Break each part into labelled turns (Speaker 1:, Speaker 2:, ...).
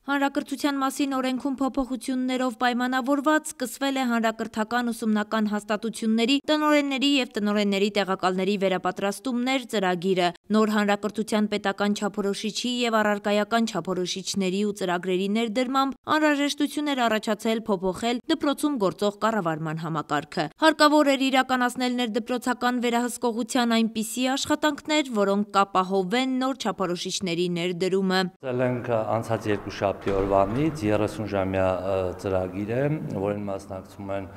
Speaker 1: Հանրակրթության մասին օրենքում փոփոխություններով պայմանավորված սկսվել է հանրակրթական ուսումնական հաստատությունների, տնօրենների և տնօրենների տեղակալների վերապատրաստումներ ծրագիրը։ Նոր հանրակրթության պետական չափորոշիչի և առարկայական չափորոշիչների ու ծրագրերի ներդրմամբ անհրաժեշտություն էր առաջացել փոփոխել դպրոցում գործող կառավարման համակարգը։ Հարկավոր էր իրականացնել ներդպրոցական վերահսկողության այնպիսի աշխատանքներ, որոնք կապահովեն նոր չափորոշիչների ներդրումը։
Speaker 2: Անցած երկուշաբթի օրվանից 30-ժամյա ծրագիր է, որին մասնակցում են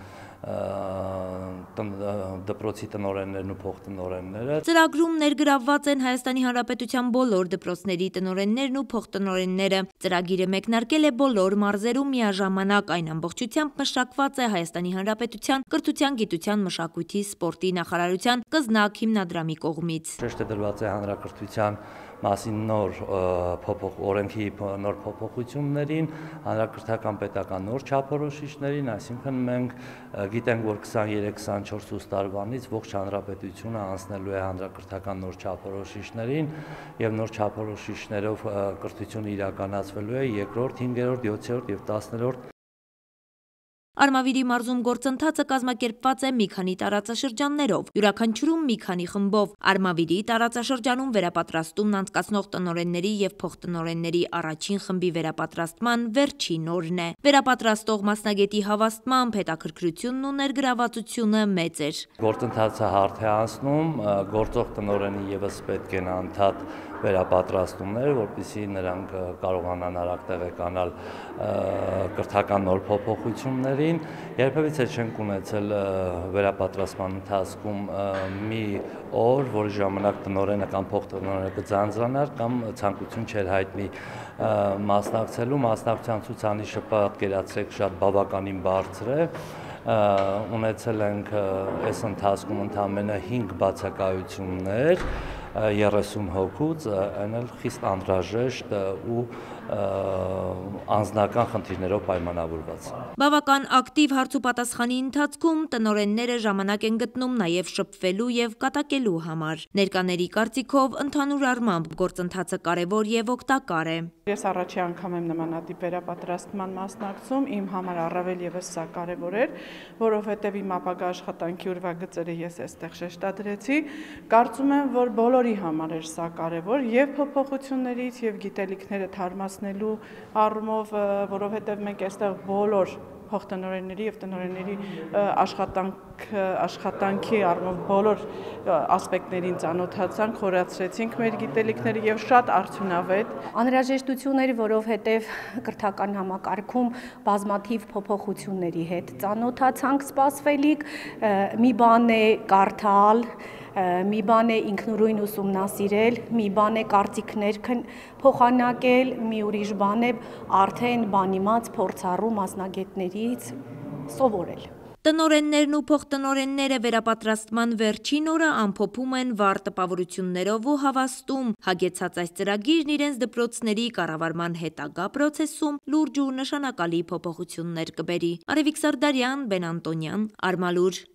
Speaker 2: դպրոցի տնօրեններն ու փոխտնօրենները։
Speaker 1: Ծրագրում ներգրավված են Հայաստանի Հանրապետության բոլոր դպրոցների տնօրեններն ու փոխտնօրենները։ Ծրագիրը մեկնարկել է բոլոր մարզերում միաժամանակ, այն ամբողջությամբ մշակված է Հայաստանի Հանրապետության Կրթության, գիտության, մշակույթի, սպորտի նախարարության Կզնակ հիմնադրամի կողմից։
Speaker 2: Շեշտը դրված է հանրակրթության մասին օրենքի նոր փոփոխություններին, հանրակրթական պետական նոր չափորոշիչներին, այսինքն մենք գիտենք, որ 23-24 տարվանից ողջ հանրապետությունը անցնելու է հանրակրթական նոր չափորոշիչներին և նոր չափորոշիչներով կրթությունը իրականացվելու է 2-րդ, 5-րդ, 7-րդ և 10-րդ
Speaker 1: Արմավիրի մարզում գործընթացը կազմակերպված է մի քանի տարածաշրջաններով, յուրաքանչյուրում մի քանի խմբով։ Արմավիրի տարածաշրջանում վերապատրաստումն անցկացնող տնօրենների և փոխտնօրենների առաջին խմբի վերապատրաստման վերջին օրն է։ Վերապատրաստող մասնագետի հավաստմամբ հետաքրքրությունն ու ներգրավվածությունը մեծ էր։
Speaker 2: Գործընթացը հարթ է անցնում, գործող տնօրենի ևս պետք են անդադ վերապատրաստումներ, որպեսզի նրանք կարողանան արագ տեղեկանալ կրթական նոր փոփոխություններին։ Երբևիցե չենք ունեցել վերապատրաստման ընթացքում մի օր, որի ժամանակ տնօրենը կամ փոխտնօրենը կձանձրանար կամ ցանկություն չէր հայտնի մասնակցելու։ Մասնակցության ցուցանիշը պատկերացրեք շատ բավականին բարձր է։ Ունեցել ենք այս ընթացքում ընդամենը 5 բացակայություններ 30 հոգուց, այն էլ խիստ անհրաժեշտ ու անձնական խնդիրներով պայմանավորված։
Speaker 1: Բավական ակտիվ հարցուպատասխանի ընթացքում տնօրենները ժամանակ են գտնում նաև շփվելու և կատակելու համար։ Ներկաների կարծիքով ընդհանուր առմամբ գործընթացը կարևոր և օգտակար է։
Speaker 3: Ես առաջի անգամ եմ նմանատիպ վերապատրաստման մասնակցում, իմ համար առավել ևս սա կարևոր էր, որովհետև իմ ապագա աշխատանքի ուրվագծերը ես այստեղ շեշտադրեցի։ Կարծում եմ, որ բոլորի համար էր սա կարևոր եւ փոփոխություններից եւ գիտելիքները թարմացնելու առումով, որովհետև մենք այստեղ բոլոր փոխտնօրենների եւ տնօրենների աշխատանքի առումով բոլոր ասպեկտներին ծանոթացանք, խորացրեցինք մեր գիտելիքները եւ շատ արդյունավետ։
Speaker 4: Անհրաժեշտություն էր, որովհետեւ կրթական համակարգում բազմաթիվ փոփոխությունների հետ ծանոթացանք սպասվելիք, մի բան է կարդալ, մի բան է ինքնուրույն ուսումնասիրել, մի բան է կարծիքներ փոխանակել, մի ուրիշ բան է արդեն բանիմաց փորձառու մասնագետներից սովորել։
Speaker 1: Տնօրեններն ու փոխտնօրենները վերապատրաստման վերջին օրը ամփոփում են վառ տպավորություններով ու հավաստում, հագեցած այս ծրագիրն իրենց դպրոցների կառավարման հետագա պրոցեսում լուրջ ու նշանակալի փոփոխություններ կբերի։ Արևիկ Սարդարյան, Բեն Անտոնյան, Արմալուր։